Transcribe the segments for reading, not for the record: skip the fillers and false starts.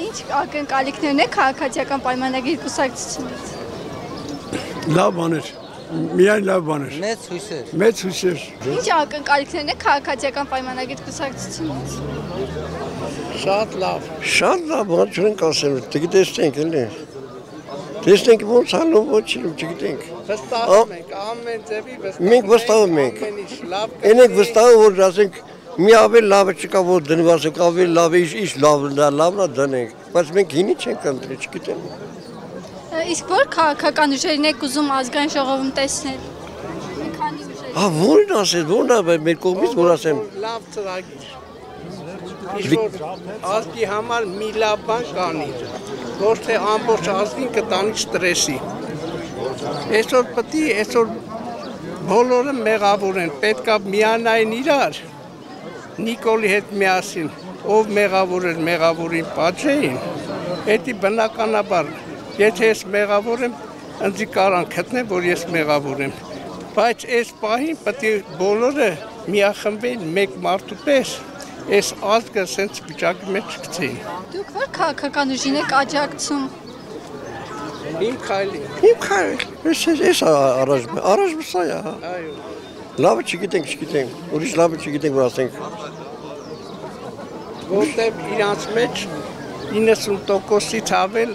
Ինչ ակնկալիքներն է քաղաքացիական պայմանագիր կուսակցությունից։ Լավ բաներ, միայն լավ բաներ։ Մեծ հույսեր։ Մեծ հույսեր։ Ինչ ակնկալիքներն է քաղաքացիական պայմանագիր կուսակցությունից։ Շատ լավ, բան չենք ասել, տեսնենք էլի։ Տեսնենք ոնց անում, ոչ չգիտենք։ Վստահում ենք, ամեն ձևի Մենք վստահում ենք։ Այնենք վստահում որ ասենք մի ավելի լավը չկա որ դնված է, ավելի լավ է, ինչ լավն է դնենք, բայց մենք հինի չենք ընտրի, չգիտեմ։ Իսկ որ քաղաքական ուժերին եք ուզում ազգային ժողովում տեսնել։ Մի քանի ուժեր։ Որն ասես, որն է մեր կողմից որ ասեմ։ Լավ ծրագիր։ Ինչ-որ ազգի համար մի լավ բան կանի, ոչ թե ամբողջ ազգին կտանի ստրեսի։ Այսօր բոլորը մեղավոր են, պետք է միանային իրար, Նիկոլի հետ միասին, ով մեղավոր էր, մեղավորին պատժեին, էդի բնականաբար, եթե ես մեղավոր եմ, ընձի կարան գտնեմ, որ ես մեղավոր եմ, բայց այս պահին պետք է բոլորը միախմբեն մեկ մարդու պես, այս ազգը սենց վիճակի մեջ չգցեին։ Դուք որ քաղաքական ուժին եք աջակցում։ Իմ քայլին։ Ես առաջ սա է, հա։ Այո։ Լավը չգիտենք, ուրիշ լավը չգիտենք, որ ասենք։ Որտեղ իրանց մեջ 90%-ից ավել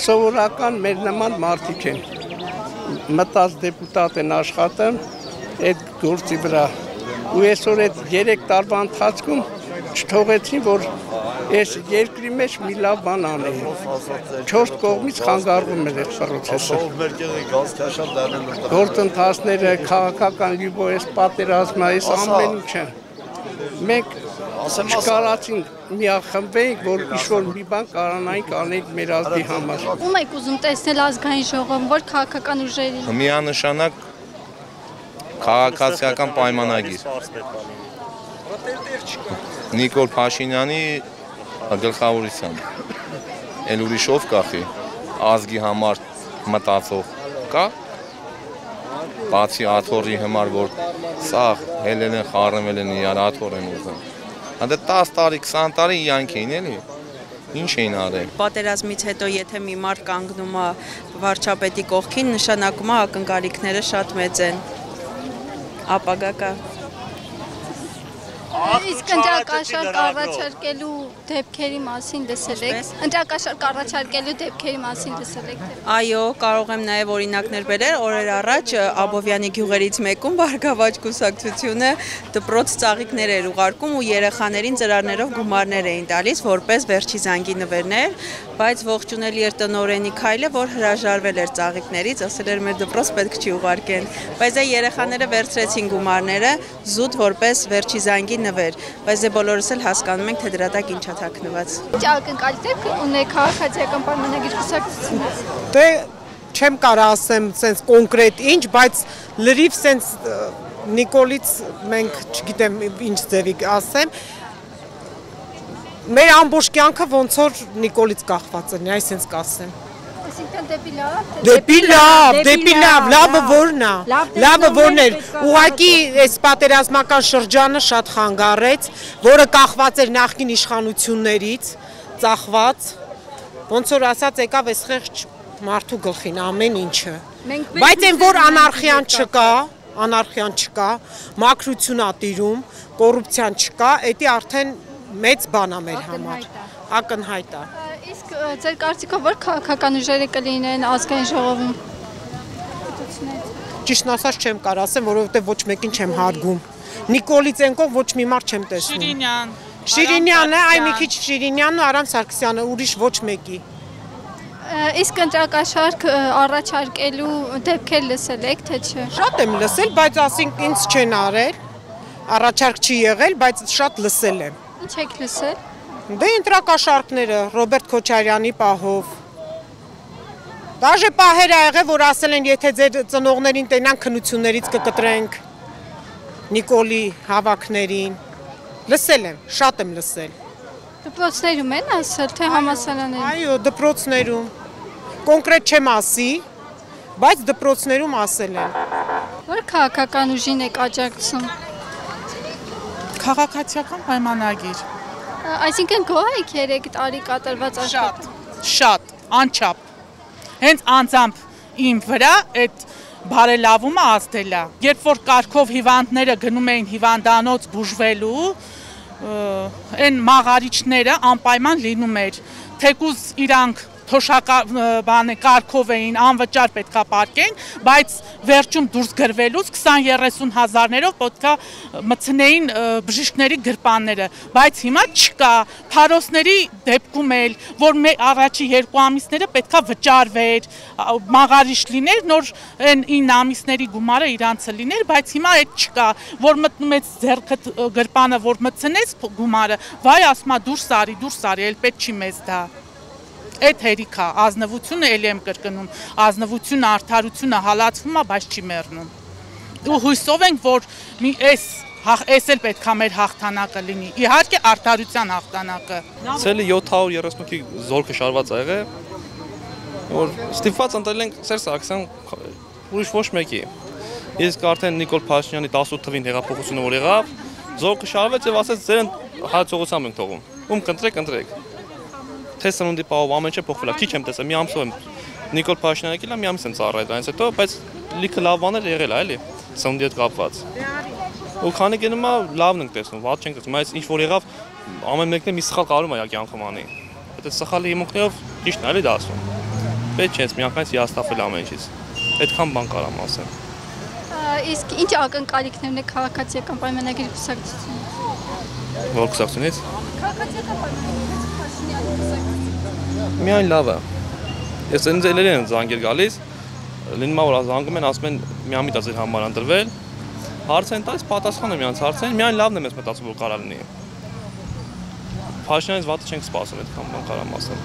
սովորական մեր նման մարդիկ են։ Մտած դեպուտատ են աշխատում այդ գործի վրա։ Ու այսօր այդ 3 տարվա ընթացքում չթողեցին, որ այս երկրի մեջ մի լավ բան անեն։ 4 կողմից խանգարվում էր այդ պրոցեսը։ Գործընթացները, քաղաքական լիբո, այս պատերազմը, այս ամեն ինչը։ Մենք չկարացինք միախմբենք, որ ինչ-որ մի բան կարանայինք անենք մեր ազգի համար։ Ում եք ուզում տեսնել ազգային ժողովում, որ քաղաքական ուժերի։ Միանշանակ քաղաքացիական պայմանագիր։ Նիկոլ Փաշինյանի գլխավորությամբ։ Էլ ուրիշով կախի, ազգի համար մտածող կա, բացի աթոռի համար, որ սաղ հելել են, խառնվել են իրար աթոռ են ուզում։ Հանդե 10 տարի, 20 տարի իյանք էին էլի, ինչ էին արել։ Պատերազմից հետո եթե մի մարդ կանգնում է վարչապետի կողքին, նշանակում է ակնկալիքները շատ մեծ են։ Ապագա կա։ Իսկ ընտրակաշարք առաջարկելու դեպքերի մասին լսել եք։ Ընտրակաշարք առաջարկելու դեպքերի մասին լսել եք։ Այո, կարող եմ նաև օրինակներ բերել, օրեր առաջ Աբովյանի գյուղերից մեկում Բարգավաճ կուսակցությունը դպրոց ծաղիկներ էր ուղարկում ու երեխաներին ծրարներով գումարներ էին տալիս, որպես վերջի զանգի նվերներ, բայց ողջունել էր տնօրենի քայլը, որ հրաժարվել էր ծաղիկներից, ասել էր մեր դպրոց պետք չի ուղարկեն, բայց այդ երեխաները վերցրեցին գումարները զուտ որպես վերջի զանգի նվեր, բայց դե բոլորս էլ հասկանում ենք, թե դրա տակ ինչա թաքնված։ Ինչ ակնկալիքներ ունեք քաղաքացիական պայմանագիր կուսակցությունից։ Դե չեմ կարող ասեմ սենց կոնկրետ ինչ, բայց լրիվ սենց Նիկոլից մենք չգիտեմ ինչ ձևի ասեմ, մեր ամբողջ կյանքը ոնց որ Նիկոլից կախված է, այսպես կասեմ։ Այսինքն դեպի լավ։ Դեպի լավ, լավը որն է։ Լավը որն էր։ Ուղղակի այս պատերազմական շրջանը շատ խանգարեց, որը կախված էր նախկին իշխանություններից, ծախված, ոնց որ ասած եկավ այս խեղճ մարդու գլխին ամեն ինչը։ Բայց այն որ անարխիան չկա, մաքրություն ա տիրում, կոռուպցիան չկա, դա արդեն մեծ բան է մեր համար, ակնհայտ է։ Իսկ ձեր կարծիքով որ քաղաքական ուժերը կլինեն ազգային ժողովում։ Ճիշտն ասած չեմ կարող ասեմ, որովհետև ոչ մեկին չեմ հարգում։ Նիկոլից ենքով ոչ մի մարդ չեմ տեսնում։ Շիրինյանը, այ մի քիչ Շիրինյանն ու Արամ Սարգսյանը, ուրիշ ոչ մեկի։ Իսկ ընտրակաշարք առաջարկելու դեպքեր լսել եք, թե չէ։ Շատ եմ լսել, բայց ասենք ինձ չեն արել, առաջարկ չի եղել, բայց շատ լսել եմ։ Ինչ եք լսել։ Դե ընտրակաշարքները Ռոբերտ Քոչարյանի պահով։ Դաժե պահեր ա եղել, որ ասել են, եթե ձեր ծնողներին տենան քննություններից կկտրենք Նիկոլի հավաքներին։ Լսել եմ, շատ եմ լսել։ Դպրոցներում են ասել, թե համալսարաններում։ Այո, դպրոցներում։ Կոնկրետ չեմ ասի, բայց դպրոցներում ասել են։ Որ քաղաքական ուժին եք աջակցում։ Քաղաքացիական պայմանագիր։ Այսինքն գոհ եք 3 տարի կատարված աշխատանքը։ Շատ, անչափ։ Հենց անձամբ իմ վրա այդ բարելավումը ազդել է։ Երբ որ կարգով հիվանդները գնում էին հիվանդանոց բուժվելու, այն մաղարիչները անպայման լինում էր, թեկուզ իրանք կարգով էին, անվճար պետքա պարկեն, բայց վերջում դուրս գրվելուց 20-30 հազարներով պետքա մտցնեին բժիշկների գրպանները, բայց հիմա չկա, փարոսների դեպքում էլ, որ առաջի 2 ամիսները պետքա վճարվեր, մաղարիչ լիներ, նոր այն 9 ամիսների գումարը իրանցը լիներ, բայց հիմա այդ չկա, որ մտնում ես ձեռքդ գրպանը, որ մտցնես գումարը, վայ ասմա դուրս արի, էլ պետք չի մեզ դա։ Այդ հերիքա, ազնվությունը էլի եմ կրկնում, ազնվությունը, արդարությունը հալածվում է, բայց չի մեռնում։ Ու հույսով ենք, որ էս էլ պետքա մեր հաղթանակը լինի, իհարկե արդարության հաղթանակը։ Ցելի 738-ի զորքը շարված ա եղել, որ ստիպված ընտրել ենք Սերժ Սարգսյան, ուրիշ ոչ մեկի։ Իսկ արդեն Նիկոլ Փաշինյանի 18 թվին հեղափոխությունը որ եղավ, զորքը շարվեց եւ ասեց ձեր հաջողությամբ ենք թողում։ Ում կընտրեք։ Թե սնունդի պահով ամեն ինչ փոխվել է, քիչ եմ տեսել, մի ամսով եմ Նիկոլ Փաշինյանը եկել է, մի ամիս եմ ծառայել դրանից հետո, բայց լիքը լավ բաներ եղել է, էլի, սնունդի հետ կապված։ Ու քանի գնում է, լավն ենք տեսնում, վատ չենք տեսնում, այս ինչ որ եղավ, ամեն մեկն է մի սխալ կարում է կյանքում անի։ Այդ սխալի հիմունքներով ճիշտն է, էլի դա ասում։ Պետք չէ, միանգամից հիասթափել ամեն ինչից։ Այդքան բան կարամ ասեմ։ Իսկ ինչ ակնկալիքներն է քաղաքացիական պայմանագրի կուսակցությունը։ Որ կուսակցությունից։ Քաղաքացիական պայմանագրի Փաշինյանի կուսակցությունը։ Միայն լավը։ Ես ինձ էլի են զանգեր գալիս, լինում է որ զանգում են, ասում են միամիտ է ձեր համար ընտրվել։ Հարց են տալիս, պատասխանը միանց հարցեն, միայն լավն եմ ես մտածում որ կարա լինի։ Փաշինյանից վատը չենք սպասում, այդքան բան կարամ ասեմ։